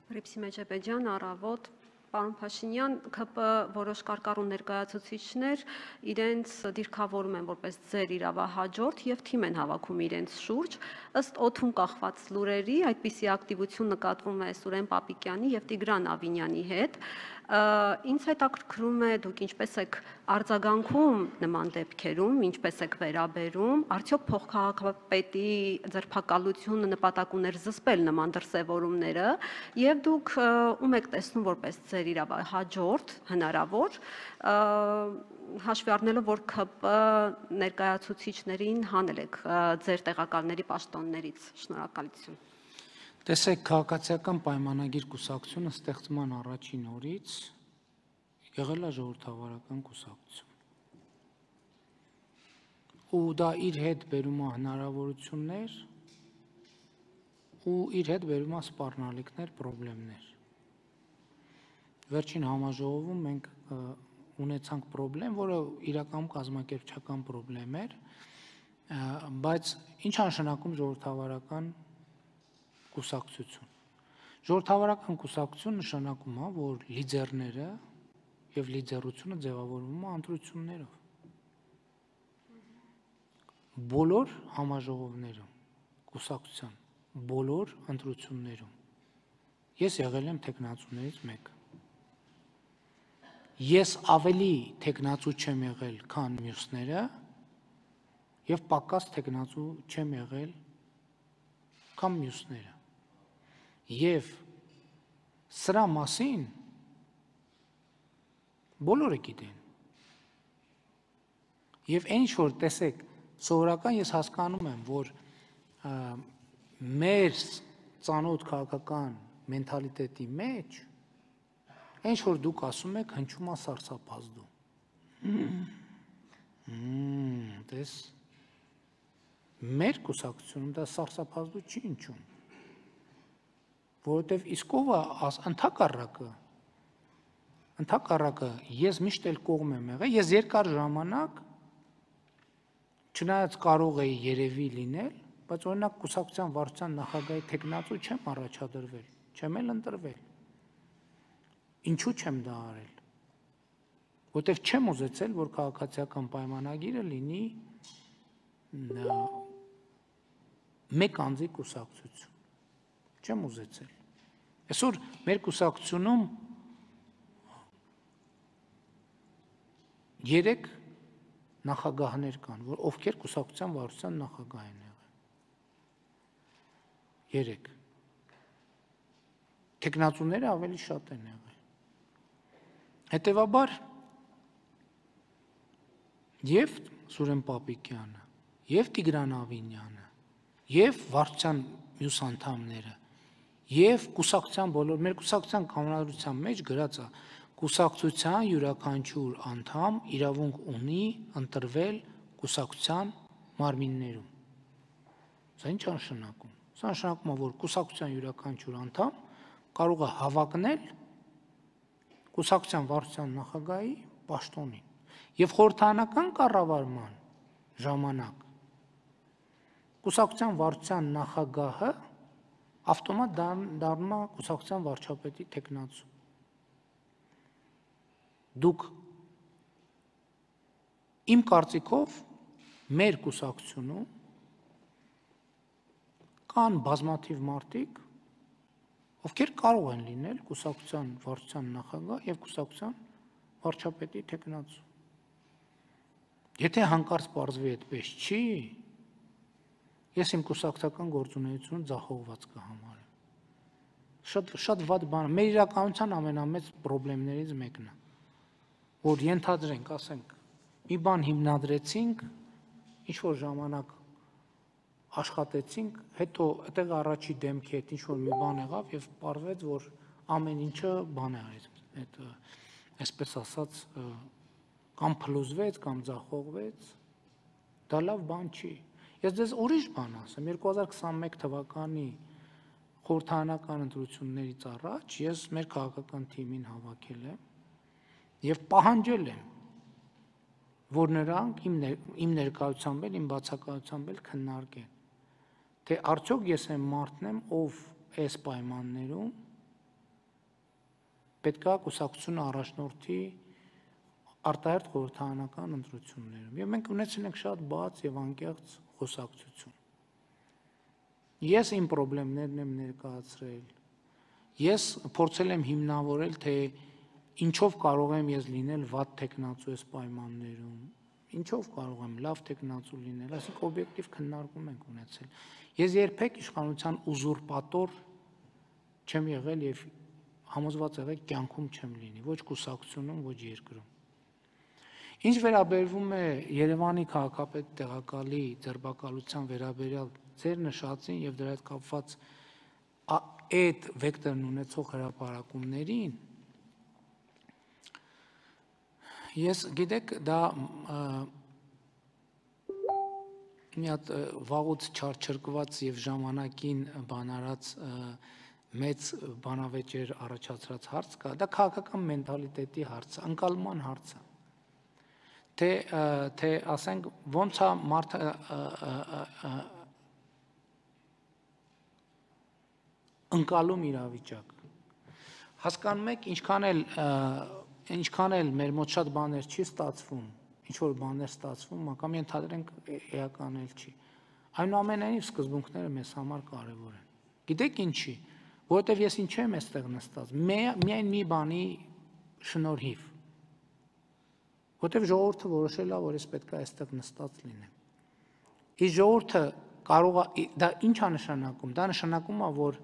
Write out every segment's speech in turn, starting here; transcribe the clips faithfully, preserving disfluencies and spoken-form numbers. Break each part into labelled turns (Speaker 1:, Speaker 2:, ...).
Speaker 1: Ռիփսի Մեջեբեջյան, առավոտ, պարոն Փաշինյան, ՔՊ որոշ կարկառուն ներկայացուցիչներ իրենց դիրքավորում են որպես ձեր իրավահաջորդ եւ թիմ են հավաքում իրենց շուրջ, ըստ օդում կախված լուրերի, այդպիսի ակտիվություն նկատվում է Սուրեն Պապիկյանի եւ Տիգրան Ավինյանի հետ։ Ինձ հետաքրքրում է դուք ինչպես եք արձագանքում նման դեպքերում, ինչպես եք վերաբերում, արդյոք փոխքաղաքապետի ձերբակալությունը նպատակ ուներ զսպել նման դրսևորումները եւ դուք ում եք տեսնում որպես ձեր իրավահաջորդ հնարավոր, հաշվի առնելով, որ ՔՊ ներկայացուցիչներին հանել եք ձեր տեղակալների պաշտոններից։ Շնորհակալություն։
Speaker 2: Տեսեք, քաղաքացիական պայմանագիր կուսակցությունը ստեղծման առաջին օրից եղել է ժողովրդավարական կուսակցություն։ Ու դա իր հետ բերում է հնարավորություններ ու իր հետ բերում է սպառնալիքներ, խնդիրներ։ Վերջին համաժողովում մենք ունեցանք խնդրեմ, որը իրականում կազմակերպչական խնդրեմ էր, բայց ինչ նշանակում ժողովրդավարական կուսակցություն։ Ժողովրդավարական կուսակցություն նշանակում է, որ լիդերները եւ լիդերությունը ձևավորվում է ընտրություններով։ Բոլոր համաժողովներում, կուսակցության բոլոր ընտրություններում ես եղել եմ թեկնածուներից մեկը։ Ես ավելի թեկնածու չեմ եղել, քան մյուսները, եւ պակաս թեկնածու չեմ եղել, քան մյուսները։ Եվ սրա մասին բոլորը գիտեն։ Եվ այն ինչ որ տեսեք, սովորական ես հասկանում եմ, որ մեր ծանոթ քաղաքական մենթալիտետի մեջ այն ինչ որ դուք ասում եք, հնչում է սարսափազդու։ Տես մեր կուսակցությունում դա սարսափազդու չի հնչում, որովհետև իսկ ով է ընդհակառակը, ընդհակառակը ես միշտ էլ կողմ եմ եղել, ես երկար ժամանակ չնայած կարող էի երևի լինել, բայց օրինակ կուսակցության վարչության նախագահի թեկնածու չեմ առաջադրվել, չեմ էլ ընտրվել։ Ինչու չեմ դա արել։ Որտեվ չեմ ուզեցել, որ քաղաքացիական պայմանագիրը լինի մեկ անձի կուսակցություն։ Չեմ ուզեցել։ Այսօր մեր կուսակցությունում երեք նախագահներ կան, որ ովքեր կուսակցության վարչության նախագահ են եղել։ Երեք։ Թեկնածուները ավելի շատ են եղել։ Հետևաբար եւ Սուրեն Պապիկյանը, եւ Տիգրան Ավինյանը, եւ վարչության մյուս անդամները, եւ կուսակցության բոլոր մեր կուսակցության կանոնադրության մեջ գրած է կուսակցության յուրաքանչյուր անդամ իրավունք ունի ընտրվել կուսակցության մարմիններում։ Սա ինչ նշանակում։ Սա նշանակում է, որ կուսակցության յուրաքանչյուր անդամ կարող է հավակնել կուսակցության վարչության նախագահի պաշտոնին եւ խորհրդարանական կառավարման ժամանակ կուսակցության վարչության նախագահը ավտոմատ դառնում է կուսակցության վարչապետի թեկնածու։ Դուք իմ կարծիքով մեր կուսակցությունում կան բազմաթիվ մարդիկ, ովքեր կարող են լինել կուսակցության վարչության նախագահ եւ կուսակցության վարչապետի թեկնածու։ Եթե հանկարծ պարզվի այդպես չի, ես իմ կուսակցական գործունեությունը ձախողված կհամարեմ։ Շատ շատ վատ բան, մեր իրականության ամենամեծ խնդիրներից մեկն է, որ ենթադրենք, ասենք, մի բան հիմնադրեցինք, ինչ որ ժամանակ աշխատեցինք, հետո այդտեղ առաջի դեմքի հետ ինչ որ մի բան եղավ եւ պարզվեց, որ ամեն ինչը բան է արեց, այդ այսպես ասած կամ փլուզվեց, կամ ձախողվեց, դա լավ բան չի։ Ես դες ուրիշ բան ասեմ, երկու հազար քսանմեկ թվականի խորհրդարանական ընտրություններից առաջ ես մեր քաղաքական թիմին հավաքել եմ եւ պահանջել եմ, որ նրանք իմ ներկայությամբ էլ, իմ բացակայությամբ էլ քննարկեն, թե արդյոք ես եմ մարդն եմ, ով այս պայմաններում պետք է կուսակցությունը առաջնորդի արտահերթ խորհրդարանական ընտրություններում։ Եվ մենք ունեցել ենք շատ բաց եւ անկեղծ խոսակցություն։ Ես իմ խնդիրներն եմ ներկայացրել։ Ես փորձել եմ հիմնավորել, թե ինչով կարող եմ ես լինել վատ տեխնացու այս պայմաններում, ինչով կարող եմ լավ տեխնացու լինել, այսինքն օբյեկտիվ քննարկում ենք ունեցել։ Ես երբեք իշխանության ուզուրպատոր չեմ եղել եւ համոզված եղել կյանքում չեմ լինի, ոչ կուսակցությունում, ոչ երկրում։ Ինչ վերաբերվում է Երևանի քաղաքապետ տեղակալի ձերբակալության վերաբերյալ ձեր նշածին եւ դրա հետ կապված այդ վեկտորն ունեցող հրապարակումներին, ես գիտեք, դա մի հատ վաղուց չարչրկված եւ ժամանակին բանարած մեծ բանավեճեր առաջացրած հարց կա, դա քաղաքական մենտալիտետի հարց, անկալման հարց է։ Թե թե ասենք ոնց է մարդը ընկալում իրավիճակ։ Հասկանում եք, ինչքան էլ ինչքան էլ մեր մոտ շատ բաներ չի ստացվում, ինչ որ բաներ ստացվում, կամ ենթադրենք էական էլ չի։ Այնուամենայնիվ սկզբունքները մեզ համար կարևոր են։ Գիտեք ինչի, որովհետև ես ինչ եմ այստեղ նստած, միայն մի բանի շնորհիվ։ Որտեւ ժողովուրդը որոշել է, որ ես պետք է այստեղ նստած լինեմ։ Իսկ ժողովուրդը կարող է դա ինչ է նշանակում։ Դա նշանակում է, որ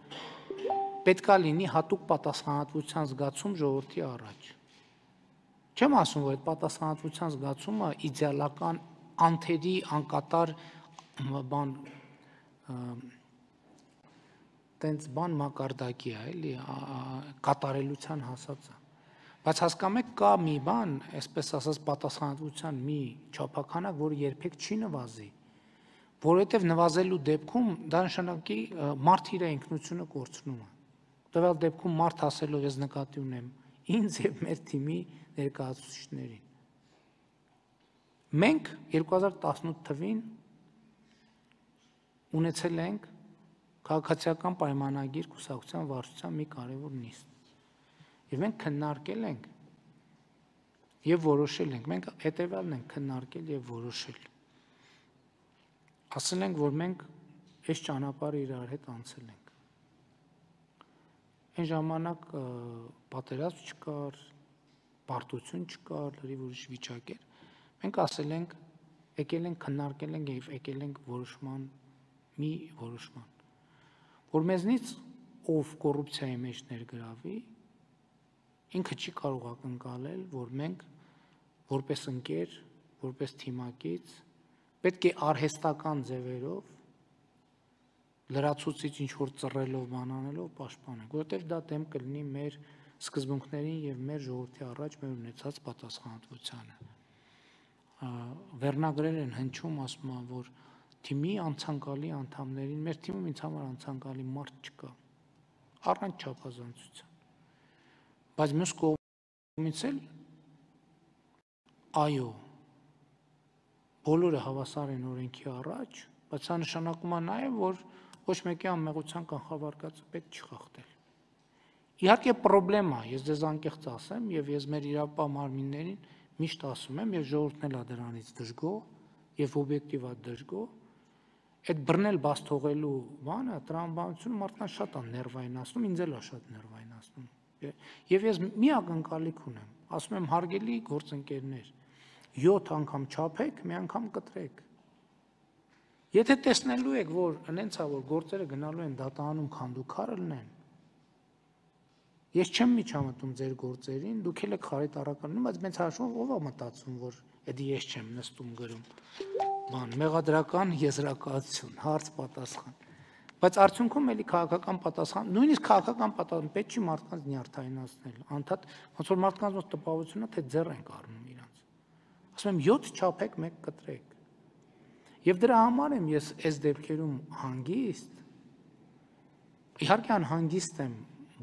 Speaker 2: պետք է լինի հատուկ պատասխանատվության զգացում ժողովրդի առաջ։ Չեմ ասում, որ այդ պատասխանատվության զգացումը իդեալական անթերի անկատար բան տենց բան մակարդակի է, էլի կատարելության հասած է։ Բայց հասկանում եք, կա մի բան, այսպես ասած, պատասխանատվության մի չափականակ, որը երբեք չի նվազի, որովհետև նվազելու դեպքում դա նշանակի մարդ իր ինքնությունը կորցնում է։ Տվյալ դեպքում մարդ ասելով ես նկատի ունեմ ինձ եւ մեր թիմի ներկայացուցիչներին։ Մենք երկու հազար տասնութ թվին ունեցել ենք քաղաքացիական պայմանագիր կուսակցության վարչության մի կարևոր նիստ։ Եվ մենք քննարկել ենք եւ որոշել ենք, մենք հետեւյալն ենք քննարկել եւ որոշել։ Ասել ենք, որ մենք այս ճանապարհը իրար հետ անցել ենք։ Այն ժամանակ պատերազմ չկար, բարդություն չկար, լրիվ ուրիշ վիճակ էր։ Մենք ասել ենք, եկել ենք քննարկել ենք եւ եկել ենք որոշման մի որոշման, որ մեզնից ով կոռուպցիայի մեջ ներգրավի, ինքը չի կարող ակնկալել, որ մենք որպես ընկեր, որպես թիմակից պետք է արհեստական ձևերով լրացուցիչ ինչ որ ծռելով բանանելով պաշտպանենք, որովհետև դա դեմ կլինի մեր սկզբունքներին եւ մեր ժողովրդի առաջ մեր ունեցած պատասխանատվությանը։ Վերնագրեր են հնչում, ասում են, որ թիմի անցանկալի անդամներին, մեր թիմում ինձ համար անցանկալի մարդ չկա, առանց չափազանցության։ Բայց մյուս կողմից էլ այո, բոլորը հավասար են օրենքի առաջ, բայց սա նշանակում է նաեւ, որ ոչ մեկի անմեղության կանխավարկածը պետք չի խախտել։ Իհարկե պրոբլեմա, ես ձեզ անկեղծ ասեմ, եւ ես մեր իրավապահ մարմիններին միշտ ասում եմ, եւ ժողովուրդն էլ է դրանից դժգոհ եւ օբյեկտիվ է դժգոհ, այդ բռնել բաց թողելու բանը, տրամաբանությունը մարդկանց շատ է ներվայնացնում, ինձ էլ է շատ ներվայնացնում։ Եվ ես մի ակնկալիք ունեմ, ասում եմ հարգելի գործընկերներ, յոթ անգամ չափեք, մի անգամ կտրեք։ Եթե տեսնելու եք, որ հենց է, որ գործերը գնալու են դատանում քանդուքարը լնեն, ես չեմ միջամտում ձեր գործերին, դուք էլ եք խարիտառականում, բայց մեծ հաշվով ով է մտածում, որ էդի ես չեմ նստում գրում, բան, մեղադրական եզրակացություն, հարց պատասխան։ Բայց արդյունքում էլի քաղաքական պատասխան, նույնիսկ քաղաքական պատասխան պետք չի մարդկանց նյարդայնացնել, անդադ ոնց որ մարդկանց ոնց տպավորությունն է, թե ձեռ ենք առնում իրանց։ Ասում եմ յոթ չափեք, մեկ կտրեք։ Եվ դրա համար եմ ես այս դեպքերում հանգիստ, իհարկե անհանգիստ եմ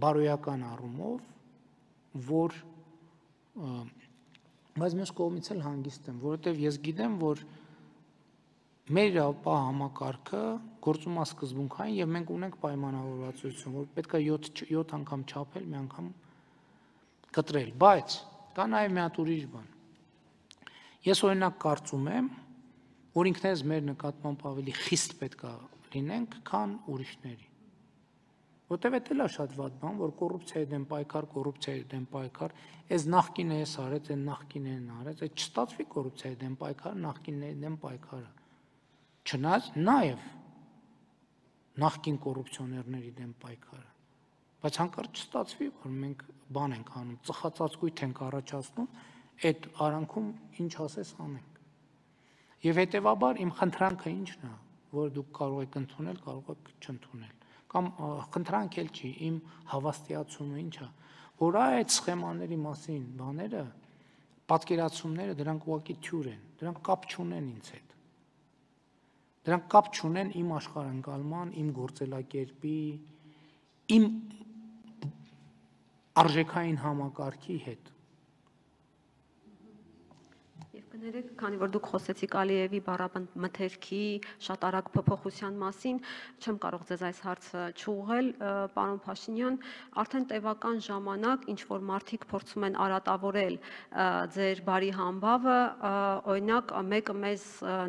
Speaker 2: բարոյական առումով, որ բայց մյուս կողմից էլ հանգիստ եմ, որովհետև ես գիտեմ, որ մեր իրավապահ համակարգը գործում է սկզբունքային եւ մենք ունենք պայմանավորվածություն, որ պետք է յոթ անգամ չափել, մի անգամ կտրել, բայց կա նաև մի հատ ուրիշ բան։ Ես օրինակ կարծում եմ, որ ինքներս մեր նկատմամբ ավելի խիստ պետք է լինենք, քան ուրիշների։ Որտեւ էդ էլ է շատ վատ բան, որ կոռուպցիայի դեմ պայքար, կոռուպցիայի դեմ պայքար, այս նախկինը էս արեց, այն նախկինն արեց, այդ չստացվի կոռուպցիայի դեմ պայքար, նախկինների դեմ պայքարը։ Չնայած նաև նախկին կոռուպցիոներների դեմ պայքարը։ Բայց հանկարծ չստացվի, որ մենք բան ենք անում, ծխածածկույթ ենք առաջացնում, այդ արանքում ինչ ասես անենք։ Եվ հետեւաբար իմ խնդրանքը ի՞նչն է, որ դուք կարող եք ընդունել, կարող եք չընդունել։ Կամ խնդրանք էլ չի, իմ հավաստիացումը ինչ է, որ այդ սխեմաների մասին բաները, պատկերացումները դրանք ուղղակի թյուր են, դրանք կապ չունեն ինձ հետ։ Դրանք կապ չունեն իմ աշխարհընկալման, իմ գործելակերպի, իմ արժեքային համակարգի հետ։
Speaker 1: Կներեք, քանի որ դուք խոսեցիք Ալիևի բառամթերքի շատ արագ փոփոխության մասին, չեմ կարող ձեզ այս հարցը չուղղել, պարոն Փաշինյան, արդեն տևական ժամանակ ինչ որ մարդիկ փորձում են արատավորել ձեր բարի համբավը, օրինակ մեկը մեզ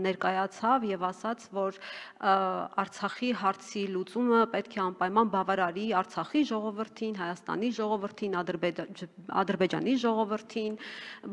Speaker 1: ներկայացավ եւ ասաց, որ Արցախի հարցի լուծումը պետք է անպայման բավարարի Արցախի ժողովրդին, Հայաստանի ժողովրդին, Ադրբեջանի ժողովրդին,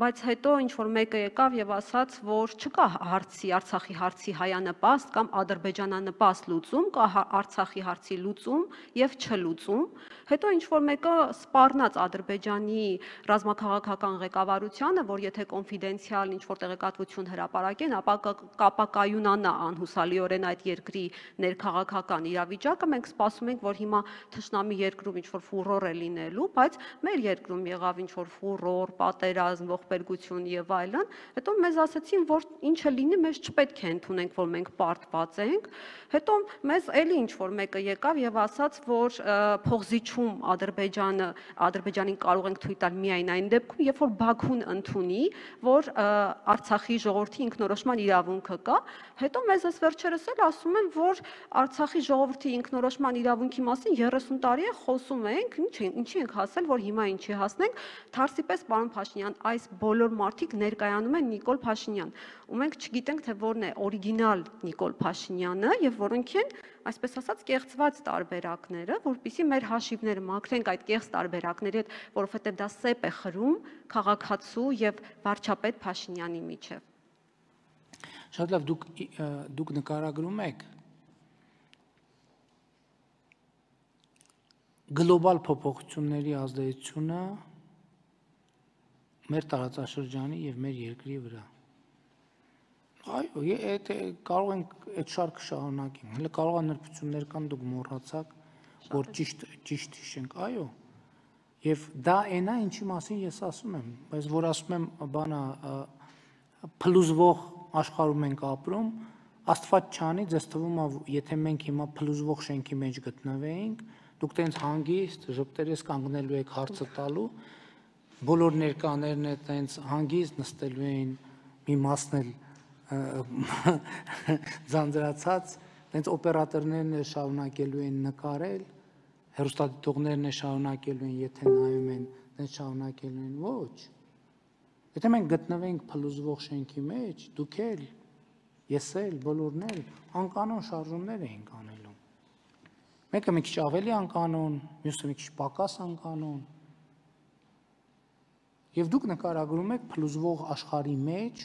Speaker 1: բայց հետո ինչ որ մեկը եկավ եւ ասաց, որ չկա հարցի, Արցախի հարցի հայանպաստ կամ ադրբեջանանպաստ լուծում, կա Արցախի հարցի լուծում եւ չլուծում։ Հետո ինչ որ մեկը սպառնաց Ադրբեջանի ռազմաքաղաքական ղեկավարությանը, որ եթե կոնֆիդենցիալ ինչ որ տեղեկատվություն հրապարակեն, ապա կապակայունանա անհուսալիորեն այդ երկրի ներքաղաքական իրավիճակը, մենք սպասում ենք, որ հիմա թշնամի երկրում ինչ որ ֆուրոր է լինելու, բայց մեր երկրում եղավ ինչ որ ֆուրոր, պատերազմ, ողբերգություն եւ այլն, հետո մեզ ասացին, որ ինչը լինի, մեզ չպետք է ընդունենք, որ մենք պարտված ենք, հետո մեզ էլի ինչ որ մեկը եկավ եւ ասաց, որ փողզիչում Ադրբեջանը, Ադրբեջանին կարող ենք թույլ տալ միայն այն դեպքում, երբ որ Բաքուն ընդունի, որ Արցախի ժողովրդի ինքնորոշման իրավունքը կա, հետո մեզ այս վերջերս էլ ասում են, որ Արցախի ժողովրդի ինքնորոշման իրավունքի մասին երեսուն տարի է խոսում ենք, ինչի ենք հասել, որ հիմա ինչի հասնենք, թարսի պես պարոն Փաշինյան, այս բոլոր մարդիկ ներկայանում են Նիկոլ Փաշինյան, ու մենք չգիտենք, թե որն է օրիգինալ Նիկոլ Փաշինյանը եւ որոնք են, այսպես ասած, կեղծված տարբերակները, որpիսի մեր հաշիվները մաքրենք այդ կեղծ տարբերակների հետ, որովհետեւ դա սեպ է խրում քաղաքացու եւ վարչապետ Փաշինյանի միջեւ։
Speaker 2: Շատ լավ, դուք դուք նկարագրում եք գլոբալ փոփոխությունների ազդեցությունը մեր տարածաշրջանի եւ մեր երկրի վրա։ Այո, այդ կարող ենք այդ շարքը շարունակենք։ Հələ կարող է նրբություններ կան, դուք մոռացաք, որ ճիշտ ճիշտ հիշենք, այո։ Եվ դա այնա, ինչի մասին ես ասում եմ, բայց որ ասում եմ, բանա փլուզվող աշխարհում ենք ապրում, Աստված չանի, ձեզ թվում է, եթե մենք հիմա փլուզվող շենքի մեջ գտնվեինք, դուք տենց հանգիստ ժպտերես կանգնելու եք հարցը տալու, բոլոր ներկաներն է տենց հանգիստ նստելու էին, մի մասն էլ ձանձրացած, տենց օպերատորներն էլ շարունակելու են նկարել, հեռուստադիտողներն էլ շարունակելու են, եթե նայում են, տենց շարունակելու են, ոչ։ Եթե մենք գտնվենք փլուզվող շենքի մեջ, դուք էլ, ես էլ, բոլորն էլ անկանոն շարժումներ էինք անելու։ Մեկը մի քիչ ավելի անկանոն, մյուսը մի քիչ պակաս անկանոն։ Եվ դուք նկարագրում եք փլուզվող աշխարհի մեջ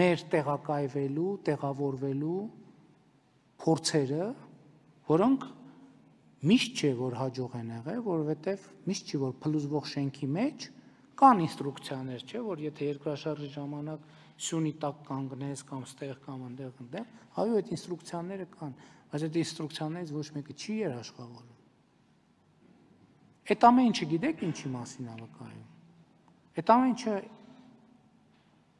Speaker 2: մեր տեղակայվելու, տեղավորվելու փորձերը, որոնք միշտ չէ, որ հաջող են եղել, որովհետև միշտ չի, որ փլուզվող շենքի մեջ կան ինստրուկցիաներ, չէ, որ եթե երկրաշարժի ժամանակ սյունի տակ կանգնես կամ ստեղ կամ այնտեղ այնտեղ, այո, այդ ինստրուկցիաները կան, բայց այդ ինստրուկցիաներից ոչ մեկը չի երաշխավորում։ Այդ ամեն ինչը գիտեք ինչի մասին է վկայում։ Այդ ամեն ինչը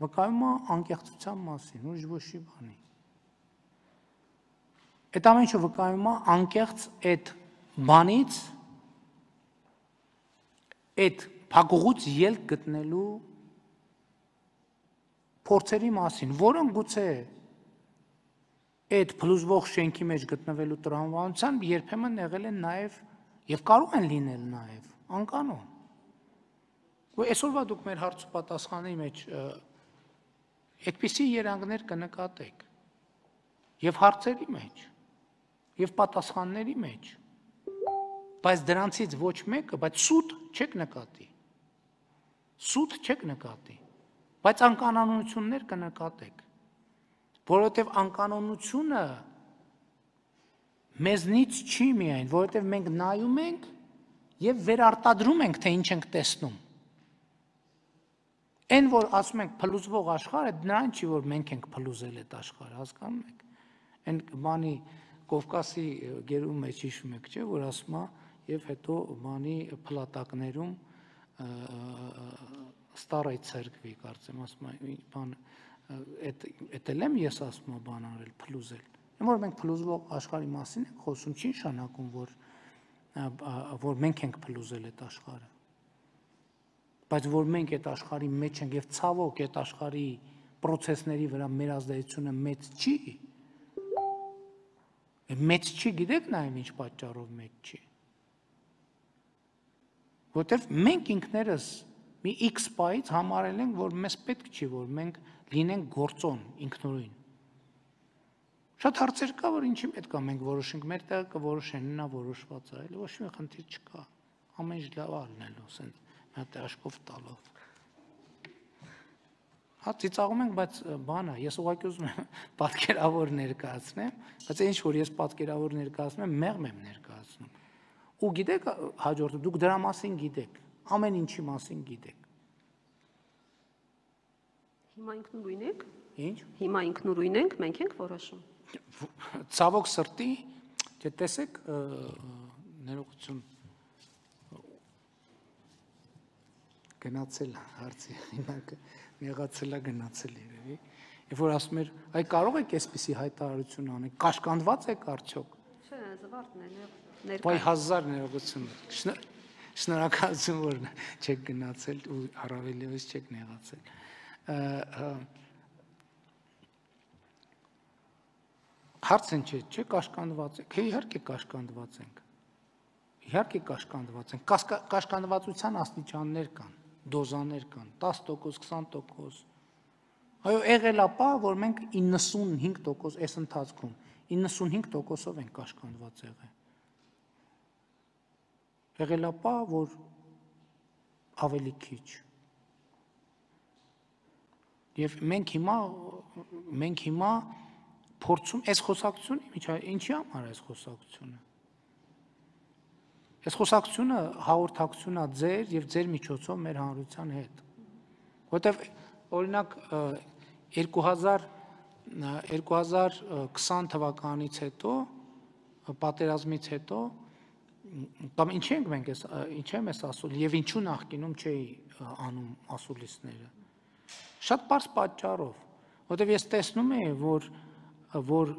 Speaker 2: վկայում է անկեղծության մասին, ուրիշ ոչի բանի։ Այդ ամեն ինչը վկայում է անկեղծ այդ բանից, այդ փակուղուց ելք գտնելու փորձերի մասին, որոնք գուցե այդ փլուզվող շենքի մեջ գտնվելու տրամաբանությամբ երբեմն եղել են նաև եւ կարող են լինել նաև անկանոն։ Ու այսօրվա դուք մեր հարց ու պատասխանի մեջ այդպիսի երանգներ կնկատեք եւ հարցերի մեջ եւ պատասխանների մեջ, բայց դրանցից ոչ մեկը, բայց սուտ չեք նկատի։ Սուտ չեք նկատի, բայց անկանոնություններ կնկատեք, որովհետեւ անկանոնությունը մեզնից չի միայն, որովհետեւ մենք նայում ենք եւ վերարտադրում ենք, թե ինչ ենք տեսնում։ Այն որ ասում ենք փլուզվող աշխարհը, նրան չի, որ մենք ենք փլուզել այդ աշխարհը, հասկանում եք։ Այն բանի Կովկասի գերու մեջ հիշում եք, չէ, որ ասում է եւ հետո բանի փլատակներում Ստարայ ցերկվի, կարծեմ, ասում է, բան այդ այդ էլ եմ ես ասում եմ բան արել, փլուզել։ Այն որ մենք փլուզվող աշխարհի մասին ենք խոսում, չի նշանակում, որ որ մենք ենք փլուզել այդ աշխարհը։ Բայց որ մենք այդ աշխարհի մեջ ենք եւ ցավոք այդ աշխարհի process-ների վրա մեր ազդեցությունը մեծ չի։ Մեծ չի, գիտեք նաեւ ինչ պատճառով մեծ չի։ Որտեւ մենք ինքներս մի X պայից համարել ենք, որ մեզ պետք չի, որ մենք լինենք գործոն ինքնուրույն։ Շատ հարցեր կա, որ ինչի պետք է մենք որոշենք, մեր տեղը կորոշեն, նա որոշված է, այլ ոչ մի խնդիր չկա։ Ամեն ինչ լավ ալնելու, ասենք, մի հատ աշխով տալով։ Հա ծիծաղում ենք, բայց բան է, ես ուղղակի ուզում եմ պատկերավոր ներկայացնեմ, բայց ինչ որ ես պատկերավոր ներկայացնում եմ, մեղմ եմ ներկայացնում։ Ու գիտեք, հաջորդը դուք դրա մասին գիտեք, ամեն ինչի մասին գիտեք։
Speaker 1: Հիմա ինքնուրույն եք։
Speaker 2: Ինչ։
Speaker 1: Հիմա ինքնուրույն ենք, մենք ենք որոշում։
Speaker 2: Ցավոք սրտի, դե տեսեք, ներողություն գնացել հարցի, հիմա եղածելա գնացել երևի։ Երբ որ ասում էր, այ կարող եք այսպիսի հայտարարություն անել, կաշկանդված եք արդյոք։
Speaker 1: Չէ, զվարթն է, ներկա։
Speaker 2: Բայ հազար ներողություն։ Շնորհակալություն, որ չեք գնացել ու առավելևս չեք նեղացել։ Հարցն չէ, չէ, կաշկանդված եք։ Հե իհարկե կաշկանդված ենք։ Իհարկե կաշկանդված ենք։ Կաշկանդվածության աստիճաններ կան, դոզաներ կան, դես տոկոս, քսան տոկոս։ Այո, եղել է պա, որ մենք իննսունհինգ տոկոս այս ընթացքում իննսունհինգ տոկոսով ենք կաշկանդված եղել։ Եղել է պա, որ ավելի քիչ։ Եվ մենք հիմա մենք հիմա փորձում այս խոսակցությունը, ինչի համար է այս խոսակցությունը։ Այս խոսակցությունը հաղորդակցություն է ձեր եւ ձեր միջոցով մեր հանրության հետ։ Որտեւ օրինակ երկու հազար քսան թվականից հետո, պատերազմից հետո, կամ ինչ ենք մենք այս ինչ եմ ես ասում եւ ինչու նախկինում չէի անում ասուլիսները։ Շատ པարզ պատճառով, որտեւ ես տեսնում եմ, որ որ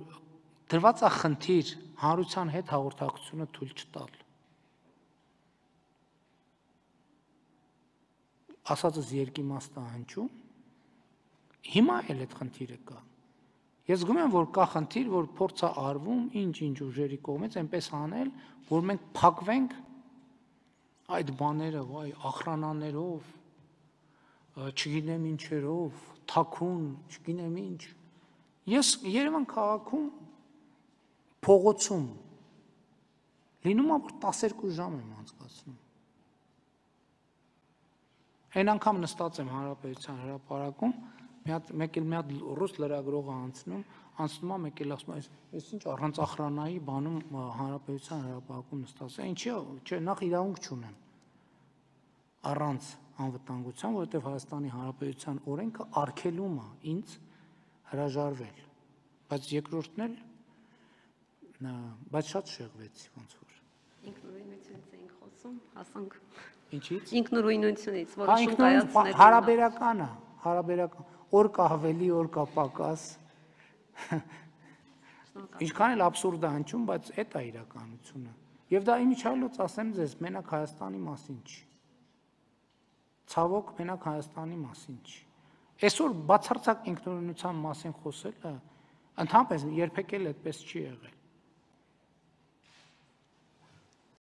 Speaker 2: դրված է խնդիր հանրության հետ հաղորդակցությունը թույլ չտալ։ Ասածս երկիմաստ է հնչում, հիմա էլ այդ խնդիրը կա։ Ես զգում եմ, որ կա խնդիր, որ փորձ է արվում ինչ-ինչ ուժերի կողմից այնպես անել, որ մենք փակվենք այդ բաները, վայ, ախրանաներով, չգիտեմ ինչերով, թաքուն, չգիտեմ ինչ։ Ես Երևան քաղաքում փողոցում լինում է, որ տասներկու ժամ եմ անցկացնում։ Այն անգամ նստած եմ Հանրապետության հրապարակում, մի հատ մեկ էլ մի հատ ռուս լրագրողը անցնում, անցնում է մեկ էլ ասում է, այս ինչ առանց ախրանայի բանում Հանրապետության հրապարակում նստած է, ինչի՞ չէ, նախ իրավունք չունեմ առանց անվտանգության, որովհետև Հայաստանի Հանրապետության օրենքը արգելում է ինձ հրաժարվել, բայց երկրորդն էլ, բայց շատ շեղվեցի ոնց որ։
Speaker 1: Ինքնուրույնությունից էինք խոսում, հասանք։
Speaker 2: Ինչից։
Speaker 1: Ինքնուրույնությունից, որոշում կայացնել։
Speaker 2: Հարաբերական է, հարաբերական, օր կա ավելի, օր կա պակաս։ Ինչքան էլ աբսուրդ է հնչում, բայց այդ է իրականությունը։ Եվ դա իմիջիայլոց ասեմ ձեզ, մենակ Հայաստանի մասին չի։ Ցավոք, մենակ Հայաստանի մասին չի։ Այսօր բացարձակ ինքնուրույնության մասին խոսելը ընդհանրապես երբեք էլ այդպես չի եղել։